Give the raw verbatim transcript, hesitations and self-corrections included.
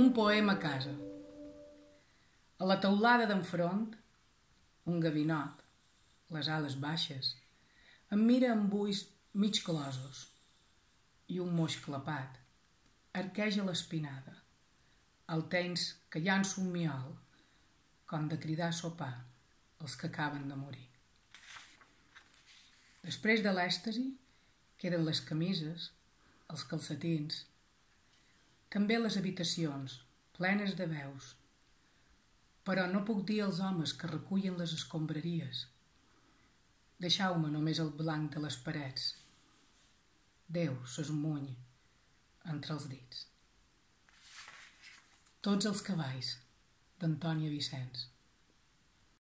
un poema a casa. A la teulada d'enfront, un gavinot, les ales baixes, em mira amb ulls mig closos i un moix clapat arqueja l'espinada, el temps que llanço un miol, com de cridar a sopar els que acaben de morir. Després de l'èxtasi queden les camises, els calcetins, també les habitacions plenes de veus, però no puc dir als homes que recullen les escombraries: deixeu-me només el blanc de les parets. Déu s'esmuny entre els dits. Tots els cavalls, d'Antònia Vicenç.